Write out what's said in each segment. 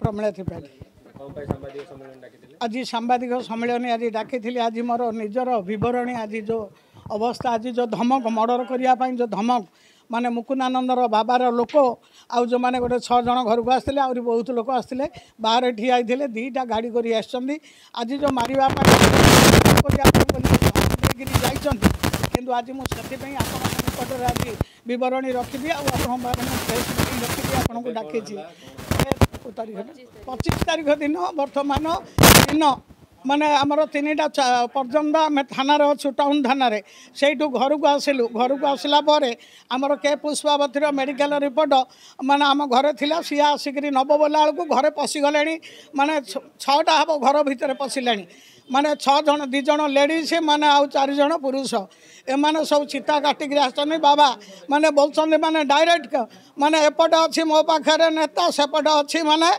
ପ୍ରମିଳା ତ୍ରିପାଠୀ। ଆଜି ସାମ୍ବାଦିକ ସମ୍ମିଳନୀ ଆଜି ଡାକିଥିଲି। ଆଜି ମୋର ନିଜର ବିବରଣୀ, ଆଜି ଯେଉଁ ଅବସ୍ଥା, ଆଜି ଯେଉଁ ଧମକ, ମର୍ଡ଼ର କରିବା ପାଇଁ ଯେଉଁ ଧମକ, ମାନେ ମୁକୁନ୍ଦାନନ୍ଦର ବାବାର ଲୋକ ଆଉ ଯେଉଁମାନେ ଗୋଟେ 6 ଜଣ ଘରକୁ ଆସିଥିଲେ, ଆହୁରି ବହୁତ ଲୋକ ଆସିଥିଲେ, ବାହାରେ ଠିଆ ହେଇଥିଲେ, 2ଟା ଗାଡ଼ି କରି ଆସିଛନ୍ତି। ଆଜି ଯେଉଁ ମାରିବା ପାଇଁ କରିବା ପାଇଁ ବୋଲି ଧମକ ଦେଇକିରି ଯାଇଛନ୍ତି, କିନ୍ତୁ ଆଜି ମୁଁ ସେଥିପାଇଁ ଆପଣଙ୍କ ନିକଟରେ ଆଜି ବିବରଣୀ ରଖିବି ଆଉ ଆପଣଙ୍କ ପାଖରେ ମୁଁ ପ୍ରେସ୍ ମିଟିଂ ରଖିବି, ଆପଣଙ୍କୁ ଡାକିଛି। ତାରିଖ 25 ତାରିଖ ଦିନ ବର୍ତ୍ତମାନ ଦିନ ମାନେ ଆମର 3ଟା ପର୍ଯ୍ୟନ୍ତ ଆମେ ଥାନାରେ ଅଛୁ, ଟାଉନ୍ ଥାନାରେ। ସେଇଠୁ ଘରକୁ ଆସିଲୁ। ଘରକୁ ଆସିଲା ପରେ ଆମର କେ ପୁଷ୍ପାବତୀର ମେଡ଼ିକାଲ ରିପୋର୍ଟ ମାନେ ଆମ ଘରେ ଥିଲା। ସିଏ ଆସିକିରି ନେବ ବୋଲା ବେଳକୁ ଘରେ ପଶିଗଲେଣି, ମାନେ 6ଟା ହେବ ଘର ଭିତରେ ପଶିଲେଣି, ମାନେ 6 ଜଣ, 2 ଜଣ ଲେଡ଼ିଜ୍ ମାନେ ଆଉ 4 ଜଣ ପୁରୁଷ। ଏମାନେ ସବୁ ଚିତା କାଟିକିରି ଆସିଛନ୍ତି। ବାବା ମାନେ ବୋଲୁଛନ୍ତି, ମାନେ ଡାଇରେକ୍ଟ, ମାନେ ଏପଟେ ଅଛି ମୋ ପାଖରେ ନେତା, ସେପଟେ ଅଛି ମାନେ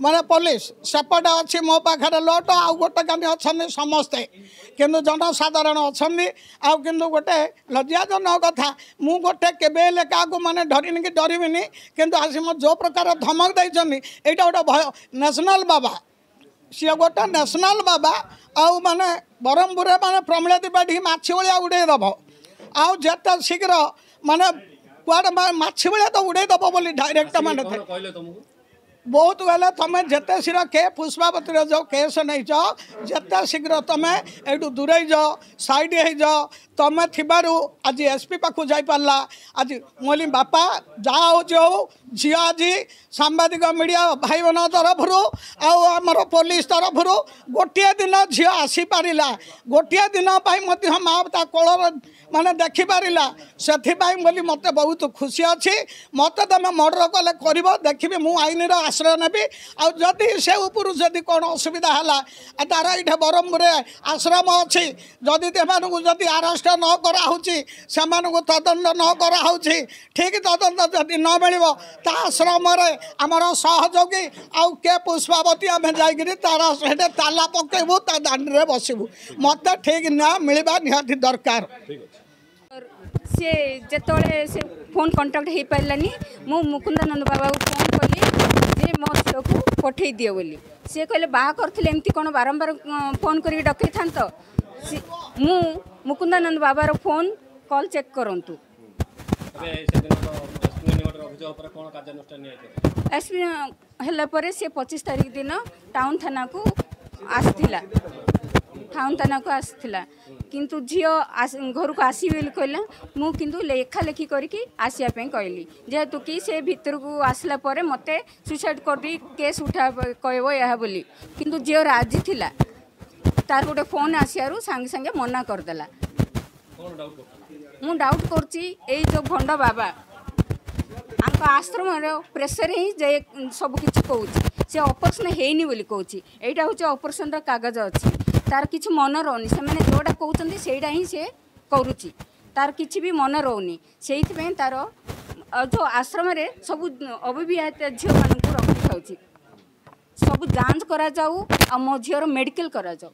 ମାନେ ପୋଲିସ, ସେପଟେ ଅଛି ମୋ ପାଖରେ ଲୋଟ, ଆଉ ଗୋଟେ କାନି ଅଛନ୍ତି ସମସ୍ତେ, କିନ୍ତୁ ଜନସାଧାରଣ ଅଛନ୍ତି। ଆଉ କିନ୍ତୁ ଗୋଟେ ଲଜ୍ଜାଜନକ କଥା, ମୁଁ ଗୋଟେ କେବେ ହେଲେ କାହାକୁ ମାନେ ଡରିନି କି ଡରିବିନି, କିନ୍ତୁ ଆସି ମୋ ଯେଉଁ ପ୍ରକାର ଧମକ ଦେଇଛନ୍ତି, ଏଇଟା ଗୋଟେ ଭୟ। ନ୍ୟାସନାଲ୍ ବାବା ସିଏ, ଗୋଟେ ନ୍ୟାସନାଲ୍ ବାବା, ଆଉ ମାନେ ବ୍ରହ୍ମପୁରରେ ମାନେ ପ୍ରମିଳା ତ୍ରିପାଠୀ ମାଛି ଭଳିଆ ଉଡ଼େଇ ଦେବ, ଆଉ ଯେତେ ଶୀଘ୍ର ମାନେ କୁଆଡ଼େ ମାଛି ଭଳିଆ ତ ଉଡ଼େଇ ଦେବ ବୋଲି ଡାଇରେକ୍ଟ ମାନେ ବହୁତ ଗଲେ। ତୁମେ ଯେତେ ଶୀଘ୍ର କେ ପୁଷ୍ପାବତୀର ଯେଉଁ କେସ୍ ନେଇଛ, ଯେତେ ଶୀଘ୍ର ତୁମେ ଏଇଠୁ ଦୂରେଇ ଯାଅ, ସାଇଡ଼ ହେଇଯାଅ। ତୁମେ ଥିବାରୁ ଆଜି ଏସ୍ ପି ପାଖକୁ ଯାଇପାରିଲା। ଆଜି ମୁଁ କହିଲି ବାପା, ଯାହା ହେଉଛି ହଉ, ଝିଅ ଆଜି ସାମ୍ବାଦିକ ମିଡ଼ିଆ ଭାଇମାନଙ୍କ ତରଫରୁ ଆଉ ଆମର ପୋଲିସ ତରଫରୁ ଗୋଟିଏ ଦିନ ଝିଅ ଆସିପାରିଲା, ଗୋଟିଏ ଦିନ ପାଇଁ ମଧ୍ୟ ମା ତା କୋଳରେ ମାନେ ଦେଖିପାରିଲା, ସେଥିପାଇଁ ବୋଲି ମୋତେ ବହୁତ ଖୁସି ଅଛି। ମୋତେ ତୁମେ ମର୍ଡ଼ର କଲେ କରିବ, ଦେଖିବି, ମୁଁ ଆଇନର ଆଶ୍ରୟ ନେବି। ଆଉ ଯଦି ସେ ଉପରୁ ଯଦି କ'ଣ ଅସୁବିଧା ହେଲା, ତାର ଏଇଠି ବ୍ରହ୍ମପୁରରେ ଆଶ୍ରମ ଅଛି, ଯଦି ସେମାନଙ୍କୁ ଯଦି ଆରେଷ୍ଟ ନ କରାହେଉଛି, ସେମାନଙ୍କୁ ତଦନ୍ତ ନ କରାହେଉଛି, ଠିକ୍ ତଦନ୍ତ ଯଦି ନ ମିଳିବ, ତା ଆଶ୍ରମରେ ଆମର ସହଯୋଗୀ ଆଉ କେ ପୁଷ୍ପାବତୀ ଆମେ ଯାଇକିରି ତାର ସେଠି ତାଲା ପକେଇବୁ, ତା ଦାଣ୍ଡରେ ବସିବୁ। ମୋତେ ଠିକ୍ ନ୍ୟାୟ ମିଳିବା ନିହାତି ଦରକାର। ସିଏ ଯେତେବେଳେ ସେ ଫୋନ୍ କଣ୍ଟାକ୍ଟ ହେଇପାରିଲାନି, ମୁଁ ମୁକୁନ୍ଦାନନ୍ଦ ବାବାକୁ ଫୋନ୍ କଲି ଯେ ମୋ ଝିଅକୁ ପଠେଇ ଦିଅ ବୋଲି। ସିଏ କହିଲେ ବାହା କରିଥିଲେ ଏମିତି କ'ଣ ବାରମ୍ବାର ଫୋନ୍ କରିକି ଡକେଇଥାନ୍ତ? ମୁଁ ମୁକୁନ୍ଦାନନ୍ଦ ବାବାର ଫୋନ୍ କଲ୍ ଚେକ୍ କରନ୍ତୁ। ଏସ୍ ପି ହେଲା ପରେ ସେ 25 ତାରିଖ ଦିନ ଟାଉନ୍ ଥାନାକୁ ଆସିଥିଲା, ଟାଉନ୍ ଥାନାକୁ ଆସିଥିଲା, କିନ୍ତୁ ଝିଅ ଘରକୁ ଆସିବି ବୋଲି କହିଲା। ମୁଁ କିନ୍ତୁ ଲେଖାଲେଖି କରିକି ଆସିବା ପାଇଁ କହିଲି, ଯେହେତୁ କି ସେ ଭିତରକୁ ଆସିଲା ପରେ ମୋତେ ସୁଇସାଇଡ଼୍ କରିଦେଇ କେସ୍ ଉଠା କହିବ ଏହା ବୋଲି। କିନ୍ତୁ ଝିଅ ରାଜି ଥିଲା, ତାର ଗୋଟେ ଫୋନ୍ ଆସିବାରୁ ସାଙ୍ଗେ ସାଙ୍ଗେ ମନା କରିଦେଲା। ମୁଁ ଡାଉଟ୍ କରୁଛି ଏଇ ଯେଉଁ ଭଣ୍ଡ ବାବା ଆଙ୍କ ଆଶ୍ରମର ପ୍ରେସର ହିଁ ଯେ ସବୁ କିଛି କହୁଛି। ସେ ଅପରେସନ୍ ହେଇନି ବୋଲି କହୁଛି। ଏଇଟା ହେଉଛି ଅପରେସନ୍ର କାଗଜ ଅଛି। ତାର କିଛି ମନ ରହୁନି, ସେମାନେ ଯେଉଁଟା କହୁଛନ୍ତି ସେଇଟା ହିଁ ସେ କରୁଛି, ତାର କିଛି ବି ମନ ରହୁନି। ସେଇଥିପାଇଁ ତାର ଯେଉଁ ଆଶ୍ରମରେ ସବୁ ଅବିବାହିତ ଝିଅମାନଙ୍କୁ ରଖିଥାଉଛି। ସବୁ ଯାଞ୍ଚ କରାଯାଉ ଆଉ ମୋ ଝିଅର ମେଡ଼ିକାଲ କରାଯାଉ।